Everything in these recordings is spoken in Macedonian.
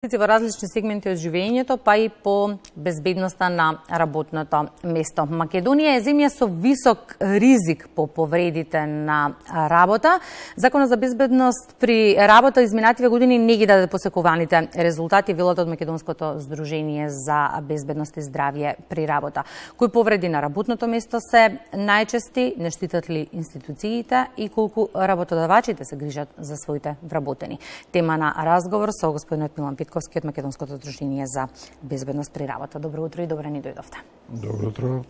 во различни сегменти од живењето, па и по безбедноста на работното место. Македонија е земја со висок ризик по повредите на работа. Законот за безбедност при работа изминативе години не ги даде посекуваните резултати, велат од Македонското здружение за безбедност и здравје при работа. Кои повреди на работното место се најчести, не штитат ли институциите и колку работодавачите се грижат за своите вработени? Тема на разговор со господинот Милан Петковски од Македонското здружение за безбедност при работа. Добро утро и добре ни дојдовте. Добро утро.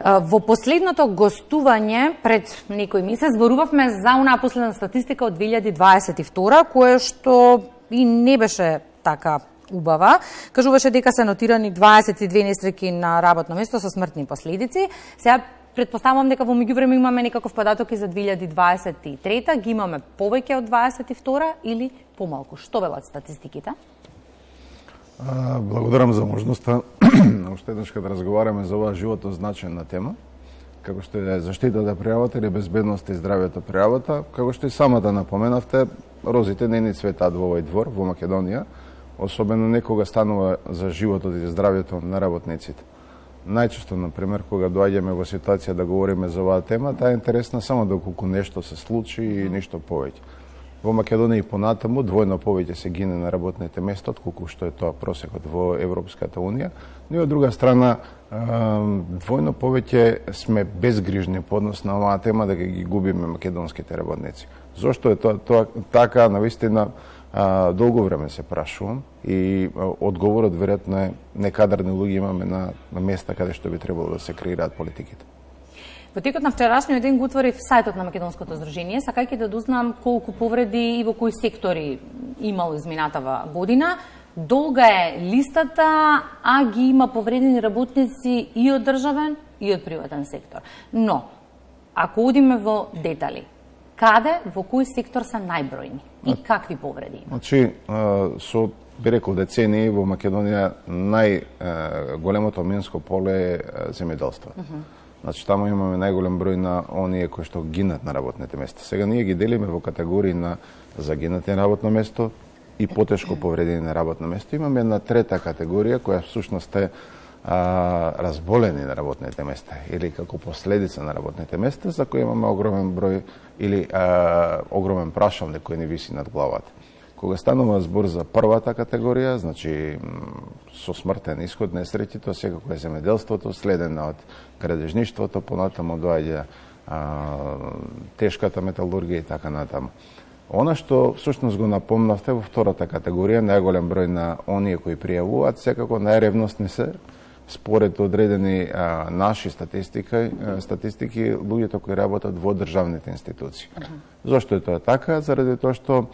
Во последното гостување пред некој месец зборувавме за онаа последна статистика од 2022, кое што и не беше така убава. Кажуваше дека се нотирани 22 несреќи на работно место со смртни последици. Сега претпоставувам дека во меѓувреме имаме некаков податок и за 2023, ги имаме повеќе од 22 или помалку. Што велат статистиките? Благодарам за можноста уште еднаш да разговараме за оваа живото значајна тема, како што е заштитата при работа или безбедност и здравјето при работа, како што и самата напоменавте, розите не ни цветат во овој двор, во Македонија, особено некога станува за животот и здравјето на работниците. Најчесто, например, кога доаѓаме во ситуација да говориме за оваа тема, таа е интересна само доколку нешто се случи и ништо повеќе. Во Македонија и понатаму двојно повеќе се гине на работните места, отколку што е тоа просекот во Европската Унија, но и од друга страна двојно повеќе сме безгрижни по однос на оваа тема дека ги губиме македонските работници. Зошто е тоа така, навистина долго време се прашувам и одговорот веројатно е некадрни луѓе имаме на места каде што би требало да се креираат политиките. Во текот на вчерашниот ден го отворив сајтот на Македонското здружение, сакајќи да дознам колку повреди и во кои сектори имало изминатава година. Долга е листата, а ги има повредени работници и од државен и од приватен сектор. Но, ако одиме во детали, каде, во кој сектор се најбројни и какви повреди има? Значи, со би рекол децении во Македонија најголемото минско поле е земјоделството. Значи, таму имаме најголем број на оние кои што гинат на работните места. Сега ние ги делиме во категории на загинати на работно место и потешко повредени на работно место. Имаме една трета категорија која всушност е разболени на работните места или како последица на работните места, за кои имаме огромен број или огромен прашалник кој ни виси над главата. Кога станува збор за првата категорија, значи со смртен исход несреќи, тоа секако е земјоделството, следено од градежништвото, понатаму доаѓа тешката металургија и така натаму. Она што всушност го напомнавте во втората категорија, најголем број на оние кои пријавуваат, секако најревностни се, според одредени наши статистики, луѓето кои работат во државните институции. Зошто е тоа така? Заради тоа што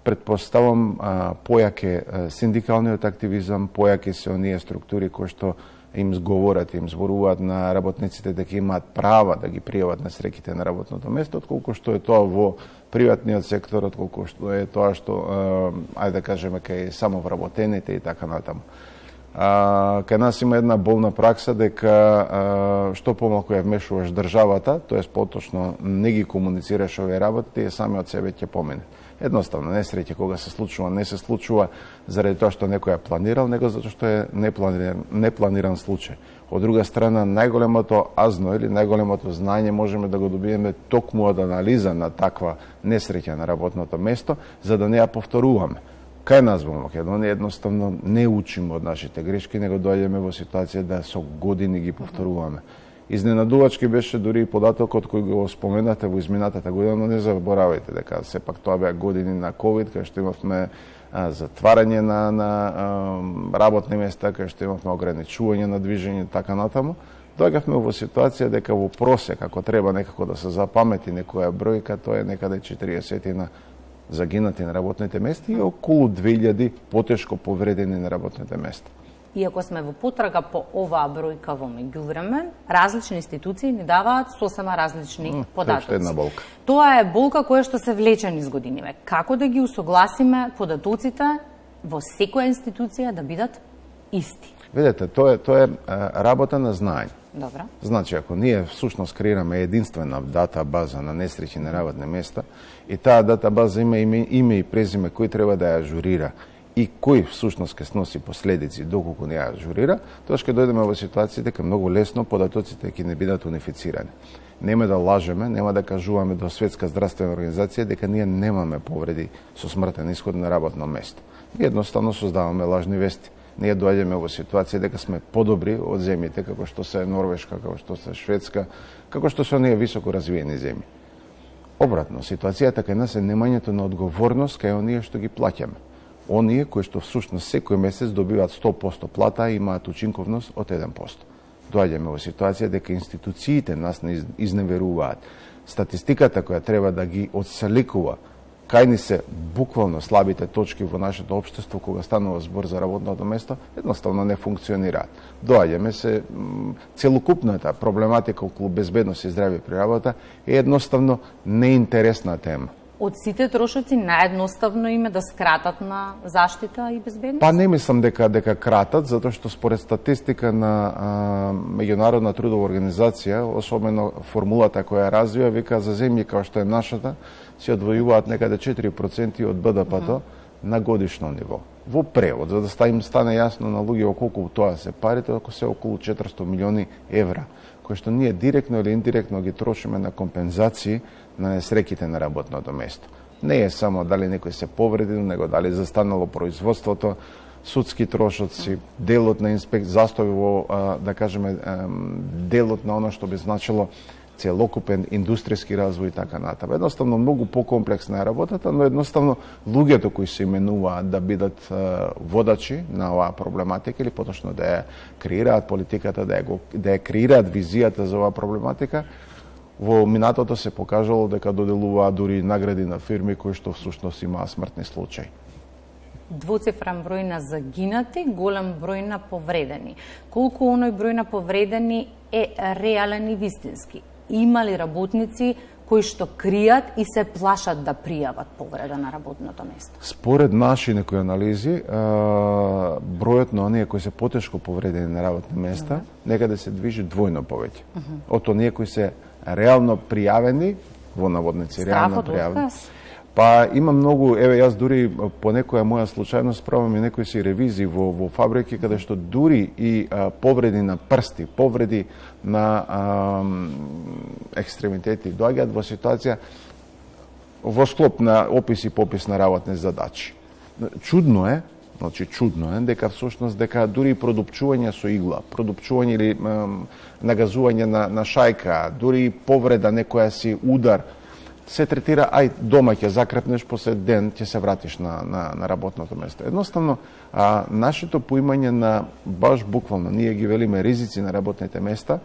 предпоставам појак е синдикалниот активизам, појак е се оние структури кои што им зговорат, им зборуваат на работниците дека имаат права да ги пријават несреќите на работното место, отколку што е тоа во приватниот сектор, отколку што е тоа што, ајде да кажеме, кај самовработените и така натаму. Кај нас има една болна пракса дека што помалку ја вмешуваш државата, тоест поточно не ги комуницираш овие работи, тие сами од себе ќе поминат. Едноставно, несреќа кога се случува, не се случува заради тоа што некој ја планирал, него затоа што е непланиран случај. Од друга страна, најголемото азно или најголемото знање можеме да го добиеме токму од анализа на таква несреќа на работното место, за да не ја повторуваме. Кај нас во Македонија едноставно не учиме од нашите грешки, него доаѓаме во ситуација да со години ги повторуваме. Изненадувачки беше дури и податокот кој го споменате во изминатата година, но не заборавајте дека сепак тоа беа години на ковид, кај што имавме затварање на работни места, кај што имавме ограничување на движење и така натаму. Доаѓавме во ситуација дека во просек, ако треба некако да се запамети некоја бројка, тоа е некаде 40 загинати на работните места и околу 2000 потешко повредени на работните места. Иако сме во потрага по оваа бројка во меѓувреме, различни институции ни даваат сосема различни податоци. Една болка. Тоа е болка која што се влече низ годиниве. Како да ги усогласиме податоците во секоја институција да бидат исти? Видете, тоа е работа на знаење. Добра. Значи, ако ние всушност креираме единствена дата база на несреќи на работни места и таа дата база има име и презиме кој треба да ја ажурира и кој всушност ќе сноси последици доколку не ја ажурира, тоа ќе дојдеме во ситуација дека многу лесно податоците ќе не бидат унифицирани. Нема да лажеме, нема да кажуваме до Светска здравствена организација дека ние немаме повреди со смртен исход на работно место. Ние едноставно создаваме лажни вести. Ние доаѓаме во ситуација дека сме подобри од земјите како што се Норвешка, како што се Шведска, како што се оние високо развиени земји. Обратно, ситуацијата кај нас е немањето на одговорност кај оние што ги плаќаме. Оние кои што всушност секој месец добиваат 100% плата и имаат учинковност од 1%. Доаѓаме во ситуација дека институциите нас не изневеруваат. Статистиката која треба да ги отселекува кај ни се буквално слабите точки во нашето општество кога станува збор за работното место, едноставно не функционираат. Доаѓаме се целокупната проблематика околу безбедност и здравје при работа е едноставно неинтересна тема. Од сите трошоци наједноставно им е да скратат на заштита и безбедност? Па не мислам дека кратат, затоа што според статистика на Меѓународна трудова организација, особено формулата која развива, вика за земји како што е нашата, се одвојуваат некаде 4% од БДП-то на годишно ниво. Во превод, за да им стане јасно на луѓе колку тоа се парите, ако се околу 400 милиони евра, кои што ние директно или индиректно ги трошиме на компензации на несреќите на работното место. Не е само дали некој се повредил, него дали застанало производството, судски трошоци, делот на застој во, да кажеме, делот на оно што би значило целокупен индустријски развој и така натаму. Едноставно многу покомплексна е работата, но едноставно луѓето кои се именуваат да бидат водачи на оваа проблематика или поточно да ја креираат политиката, да ја креираат визијата за оваа проблематика, во минатото се покажало дека доделуваат дури награди на фирми кои што всушност имаа смртни случаи. Двоцифрен број на загинати, голем број на повредени. Колку оној број на повредени е реален и вистински? Има ли работници кои што кријат и се плашат да пријават повреда на работното место? Според наши некои анализи, бројот на оние кои се потешко повредени на работни места некаде се движи двојно повеќе. Од оние кои се реално пријавени, во наводници реално пријавени. Па има многу, еве јас дури по некоја моја случајност правам и некои си ревизии во фабрики каде што дури и повреди на прсти, повреди на екстремитети доаѓаат во ситуација во склоп на опис и попис на работни задачи. Чудно е дека всушност дека дури продупчување со игла, продупчување или нагазување на шајка, дури повреда некоја си удар се третира, дома ќе закрепнеш, после ден ќе се вратиш на работното место. Едноставно, нашето поимање на, баш буквално, ние ги велиме ризици на работните места,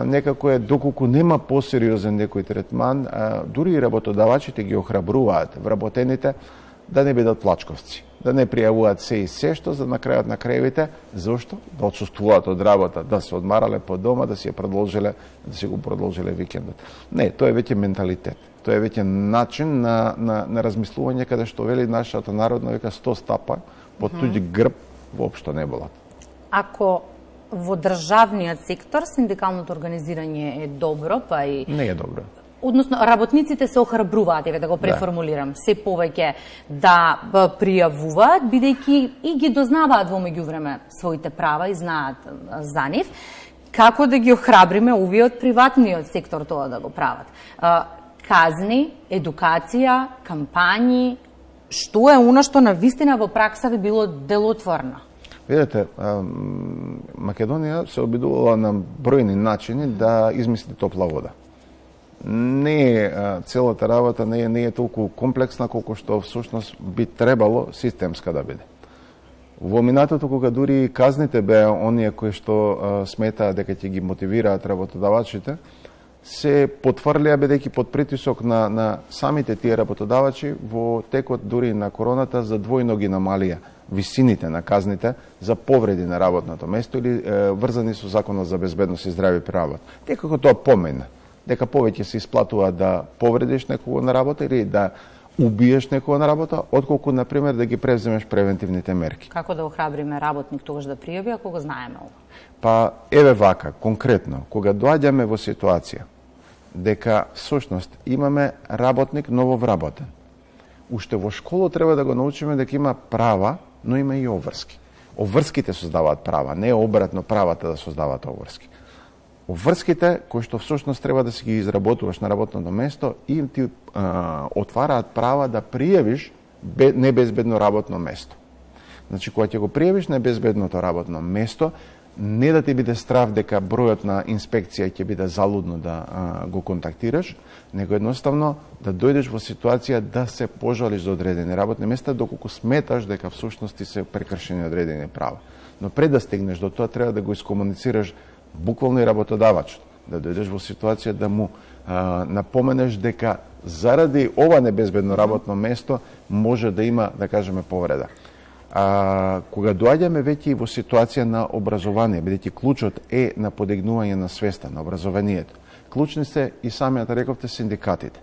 некако е, доколку нема посериозен некој третман, дури и работодавачите ги охрабруваат вработените да не бидат плачковци, да не пријавуваат се и се што за на крајот на краевите, зошто? Да отсуствуваат од работа, да се одмарале по дома, да си го продолжиле викендот. Не, тоа е веќе менталитет. Тоа е веќе начин на размислување каде што вели нашата народна века 100 стапа под туѓ грб воопшто не болат. Ако во државниот сектор синдикалното организирање е добро, па и не е добро. Односно, работниците се охрабруваат, еве да го преформулирам, се повеќе да пријавуваат, бидејќи и ги дознаваат во меѓувреме своите права и знаат за нив. Како да ги охрабриме овие од приватниот сектор тоа да го прават? Казни, едукација, кампањи, што е оно што навистина во пракса би било делотворно? Видете, Македонија се обидувала на бројни начини да измисли топла вода. Не е целата работа не е толку комплексна колку што всушност би требало системска да биде. Во минатото кога дури казните беа оние кои што сметаа дека ќе ги мотивираат работодавачите, се потврлија бидејќи под притисок на самите тие работодавачи во текот дури на короната за двојно ги намалија висините на казните за повреди на работното место или врзани со Законот за безбедност и здравје при работа. Некако тоа помина, дека повеќе се исплатува да повредиш некого на работа или да убиеш некого на работа, отколку, например, да ги превземеш превентивните мерки. Како да охрабриме работник тогаш да пријави, ако го знаеме ова? Па, еве вака, конкретно, кога доаѓаме во ситуација дека, всушност, имаме работник нововработен, уште во школа треба да го научиме дека има права, но има и обврски. Обврските создаваат права, не обратно правата да создаваат обврски. Обврските, кои што всушност треба да си ги изработуваш на работното место, им ти отвараат права да пријавиш небезбедно работно место. Значи, кога ќе го пријавиш небезбедното работно место, не да ти биде страв дека бројот на инспекција ќе биде залудно да го контактираш, него едноставно да дојдеш во ситуација да се пожалиш за одредени работни места, доколку сметаш дека всушност ти се прекршени одредени права. Но пред да стигнеш до тоа, треба да го искомуницираш буквално и работодавачот, да дојдеш во ситуација да му напоменеш дека заради ова небезбедно работно место може да има, да кажеме, повреда. Кога доаѓаме веќе и во ситуација на образование, бидејќи клучот е на подигнување на свеста, на образованието, клучни се и самиот рековте синдикатите.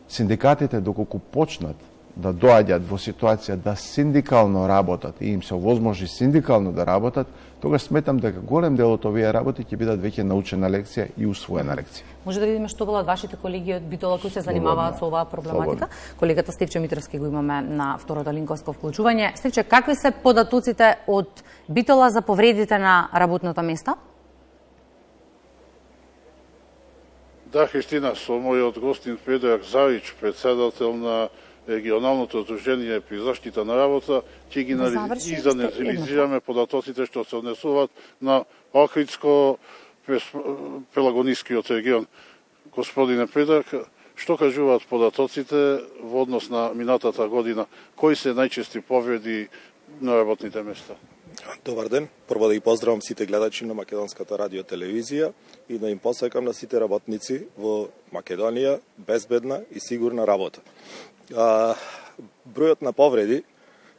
Синдикатите, доколку почнат да доаѓат во ситуација да синдикално работат и им се овозможи синдикално да работат, тогаш сметам дека голем дел од овие работи ќе бидат веќе научена лекција и усвоена лекција. Може да видиме што велат вашите колеги од Битола кои се занимаваат со оваа проблематика. Колегата Стефче Митровски го имаме на второто линковско вклучување. Стефче, какви се податоците од Битола за повредите на работното место? Да, Христина, со мојот гостин Предраг Завич, председател на регионалното здружение при заштита на работа, ќе ги изанализираме податоците што се однесуваат на Охридско-Пелагонискиот регион. Господине Предраг, што кажуваат податоците во однос на минатата година? Кои се најчести повреди на работните места? Добар ден. Прво да ги поздравам сите гледачи на Македонската радио телевизија и да им посакам на сите работници во Македонија безбедна и сигурна работа. Бројот на повреди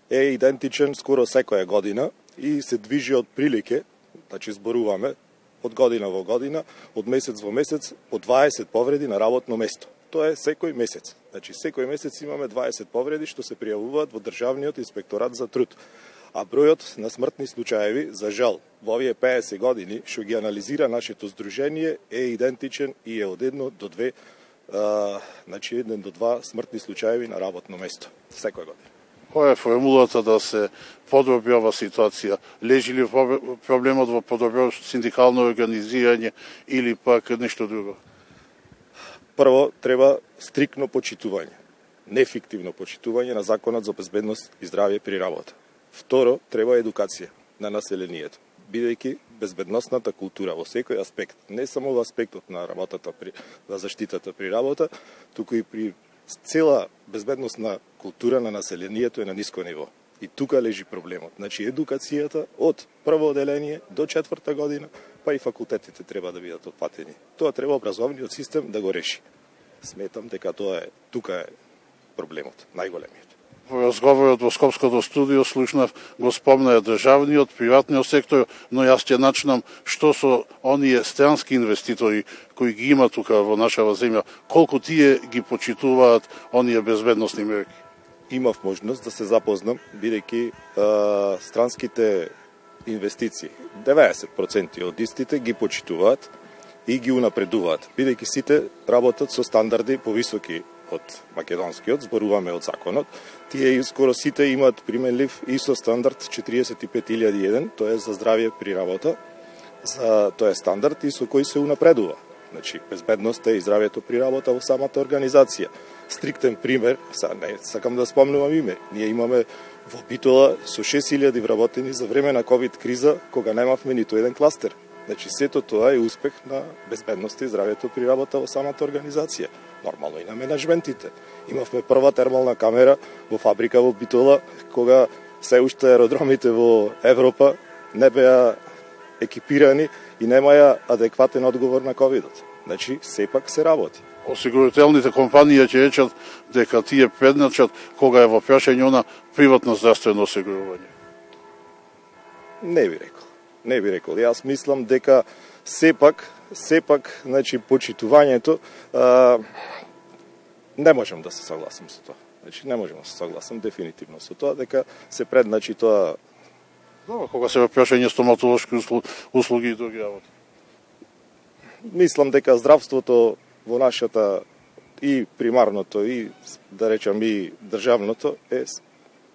е идентичен скоро секоја година и се движи од прилике, значи зборуваме од година во година, од месец во месец, од 20 повреди на работно место. Тоа е секој месец. Значи секој месец имаме 20 повреди што се пријавуваат во Државниот инспекторат за труд. А бројот на смртни случаеви, за жал, во овие 50 години, што ги анализира нашето здружение, е идентичен и е од 1 до 2 значи 1 до 2 смртни случаеви на работно место секоја година. Која е формулата да се подобри ова ситуација? Лежи ли проблемот во подобро синдикално организирање или пак нешто друго? Прво, треба стрикно почитување, нефиктивно почитување на Законот за безбедност и здравје при работа. Второ, треба едукација на населението, бидејќи безбедносната култура во секој аспект, не само во аспектот на работата на заштитата при работа, туку и при цела безбедносна култура на населението е на ниско ниво. И тука лежи проблемот. Значи едукацијата од прво оделение до 4-та година, па и факултетите треба да бидат отпатени. Тоа треба образовниот систем да го реши. Сметам дека тука е проблемот, најголемиот. Во разговорот во Скопското студио слушнав го спомна државниот, приватниот сектор, но јас ќе начнам што со оние странски инвеститори кои ги има тука во нашава земја, колку тие ги почитуваат оние безбедносни мерки? Имав можност да се запознам, бидејќи странските инвестиции, 90% од истите ги почитуваат и ги унапредуваат, бидејќи сите работат со стандарди повисоки од македонскиот, зборуваме од законот. Тие скоро сите имаат применлив ISO стандард 45001, тоа е за здравје при работа. Тоа е стандард и со кој се унапредува. Значи, безбедноста и здравјето при работа во самата организација. Стриктен пример, не сакам да спомнувам име, ние имаме во Битола со 6000 вработени за време на ковид криза, кога немавме ниту еден кластер. Значи, сето тоа е успех на безбедноста и здравјето при работа во самата организација. Нормално и на менеджментите. Имавме прва термална камера во фабрика во Битола, кога се уште аеродромите во Европа не беа екипирани и немаја адекватен одговор на ковидот. Значи, сепак се работи. Осигурителните компании ќе речат дека тие предначат кога е во прашање она приватно здравствено осигурување. Не би рекол. Јас мислам дека сепак, значи, почитувањето, не можам да се согласам со тоа. Значи, не можам да се согласам дефинитивно со тоа, дека се предначи тоа. Кога се во прашање стоматолошки услуги и други работи. Мислам дека здравството во нашата и примарното и да речам и државното е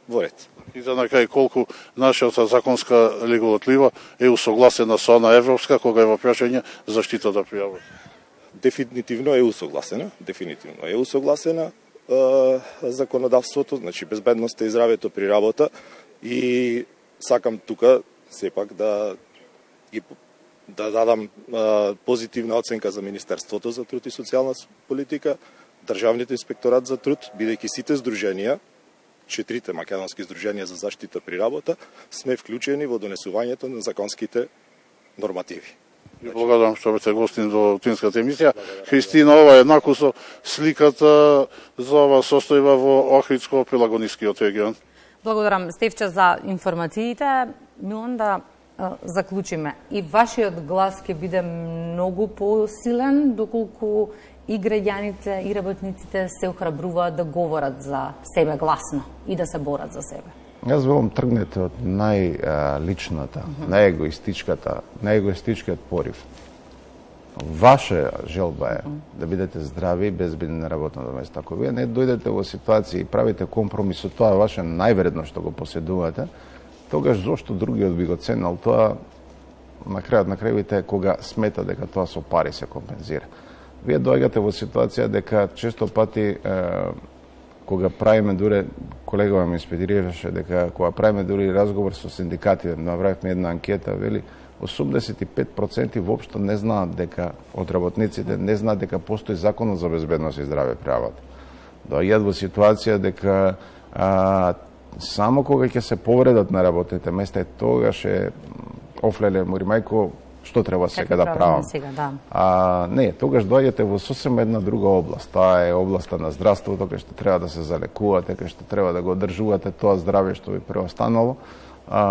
во ред. И за на крај колку нашата законска регулатива е усогласена со она европска кога е во прашање заштитата при работа? Дефинитивно е усогласена законодавството, значи безбедноста и здравјето при работа, и сакам тука сепак да дадам позитивна оценка за Министерството за труд и социјална политика, Државниот инспекторат за труд, бидејќи сите здруженија, 4 македонски здруженија за заштита при работа, сме вклучени во донесувањето на законските нормативи. Благодарам што бете гостин до Тинската емисија. Христина, ова е еднакво со сликата за ова состојба во Охридско-Пелагонискиот регион. Благодарам, Стефче, за информациите. Милан, да заклучиме. И вашиот глас ќе биде многу посилен доколку и граѓаните и работниците се охрабруваат да говорат за себе гласно и да се борат за себе. Јас велам, тргнете од најличната, најегоистичкиот порив. Ваша желба е да бидете здрави и безбедни на работното место. Ако вие не дојдете во ситуација и правите компромис со тоа ваше највредно што го поседувате, тогаш зошто другиот би го ценел тоа на крајот на крајвите кога смета дека тоа со пари се компензира. Вие доаѓате во ситуација дека често пати кога правиме дуре, колегава ми инспирираше дека кога правиме дури разговор со синдикати, направивме една анкета, вели 85% воопшто не знаат дека од работниците не знаат дека постои законот за безбедност и здраве при работа. Доаѓаат во ситуација дека само кога ќе се повредат на работните места, тогаш е офлеле мори мајко, што треба сега да правам. Не, тогаш доаѓате во сосем една друга област. Таа е областа на здравството, кај што треба да се залекувате, кај што треба да го одржувате тоа здравје што ви преостанало.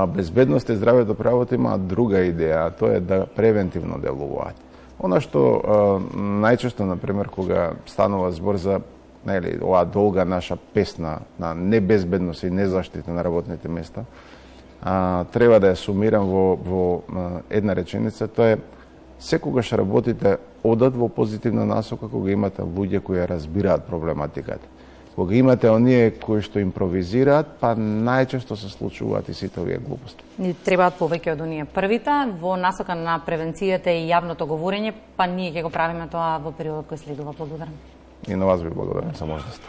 Безбедност и здравјето при работа има друга идеја, тоа е да превентивно делуваат. Она што најчесто, например, кога станува збор за оваа долга наша песна на небезбедност и незаштита на работните места, треба да ја сумирам во една реченица, тоа е секогаш работите одат во позитивна насока кога имате луѓе кои ја разбираат проблематиката. Кога имате оние кои што импровизираат, па најчесто се случуваат и сите овие глупости. Ни требаат повеќе од оние првите во насока на превенцијата и јавното говорење, па ние ќе го правиме тоа во периодот кој следува. Благодарам. И на вас ви благодарам за можноста.